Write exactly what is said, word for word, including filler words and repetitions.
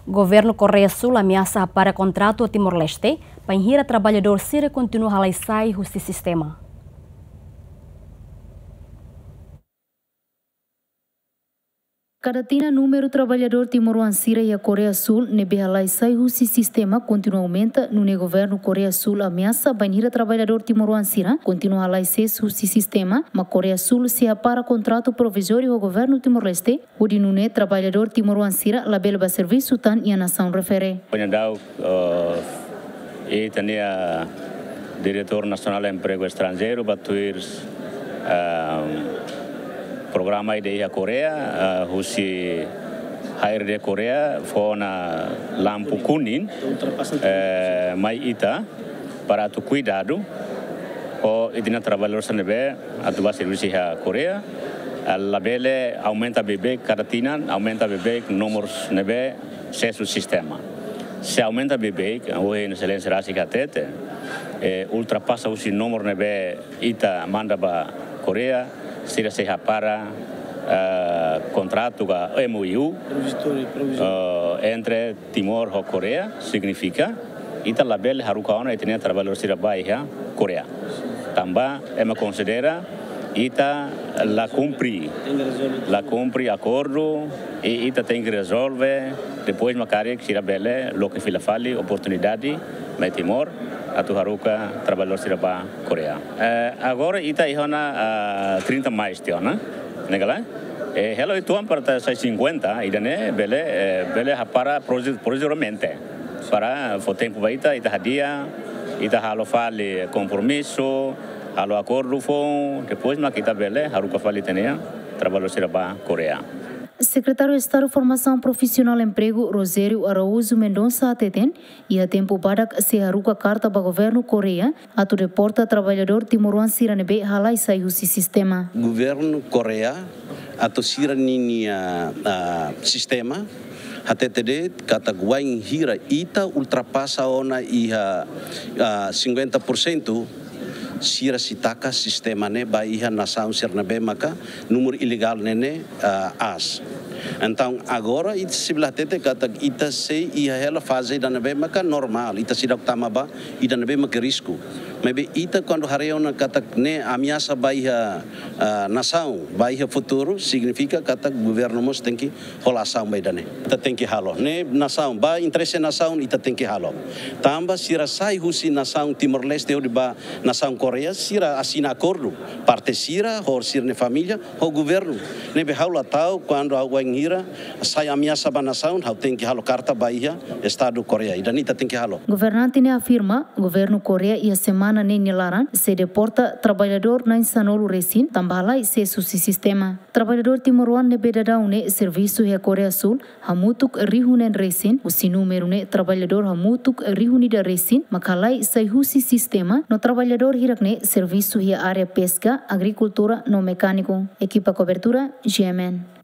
Governu Koreia Súl ameasa hapara kontratu Timor-Leste, bainhira traballadór sira kontinua halai sai husi sistema. Kada tinan númeru traballadór timoroan sira iha Koreia Súl ne'ebé halai sai husi sistema kontinua aumenta, nune'e governu Koreia Súl ameasa bainhira traballadór timoroan sira kontinua halai sees husi sistema, mak Koreia Súl sei hapara kontratu provizóriu ho governu Timor-Leste, hodi nune'e traballadór timoroan sira labele bá servisu tan iha nasaun refere. Ohin daudaun, eh, ita-nia Diretór Nasionál Empregu Estranjeiru bá tuir, eh, programa ida iha Koreia, eh, husi H R D Koreia fó ona lampu kuning, eh, mai ita para atu kuidadu ho ita-nia traballadór sira ne'ebé atu bá servisu iha Koreia, eh, labele aumenta beibeik kada tinan, aumenta beibeik númeru ne'ebé sees husi sistema. Se aumenta beibeik, ohin Exelénsia rasik hatete, eh, ultrapasa husi númeru ne'ebé ita manda ba Koreia, sira sei hapara, eh, kontratu ka M O U, provizóriu, provizóriu, eh, entre Timor ho Koreia, signifika ita labele haruka ona ita-nia traballadór sira bá iha Koreia. Tanba ema konsidera ita la kumpre, la kumpre akordu, i ita tenke rezolve, depois mak karik sira bele loke fila fali oportunidade mai Timor atu haruka traballadór sira bá Koreia. Eh, agora ita iha ona, ah, trinta mais tiha ona, ne'e ka lae? Eh, hela uitoan para ita sai cinquenta, ida-ne'e bele, eh, bele hapara provi-, provizoriamente. Para fó tempu ba ita, ita hadi'a, ita halo fali kompromisu, halo akordu foun, depois mak ita bele haruka fali ita-nia traballadór sira bá Koreia. Sekretáriu Estadu Formasaun Profisionál Empregu, Rogério Araújo Mendonça, hateten, iha tempu badak sei haruka karta ba governu Koreia atu deporta traballadór timoroan sira ne'ebé halai sai husi sistema. Governu Koreia atu sira ninia, ah, sistema, hatete de'it katak wainhira ita ultrapasa ona iha, ah, cinquenta por cento, sira sei taka sistema ne'e ba iha nasaun sira ne'ebé maka númeru ilegál ne'e ne'e, ah, aas. Entaun, agora ita sei bele hatete katak ita sei iha hela faze ida ne'ebé maka normál, ita seidauk tama ba ida ne'ebé maka risku. Maibé ita kuandu haree ona katak ne'e ameasa ba iha, ah, nasaun, ba iha futuru, signifika katak governu mós tenke hola asaun ba ida-ne'e. Ita tenke halo. Ne'e nasaun, ba interese nasaun ita tenke halo. Tanba sira sai husi nasaun Timor-Leste hodi ba nasaun Koreia, sira asina akordu. Parte sira, ho sira-nia família, ho governu. Ne'ebé ha'u la ta'uk kuandu ha'u wainhira sai ameasa ba nasaun, ha'u tenke halo karta ba iha Estadu Koreia. Ida-ne'e ita tenke halo. Governante ne'e afirma, governu Koreia iha semana ne'e nia laran sei deporta traballadór na'in-sanulu resin, tanba halai sees husi sistema. Traballadór timoroan ne'ebé daudaun ne'e servisu iha Koreia Súl hamutuk rihun neen resin, husi númeru ne'e traballadór hamutuk rihun ida resin mak halai sai husi sistema, no traballadór hirak ne'e servisu iha área peska, agrikultura no mekániku. Ekipa kobertura, G M N.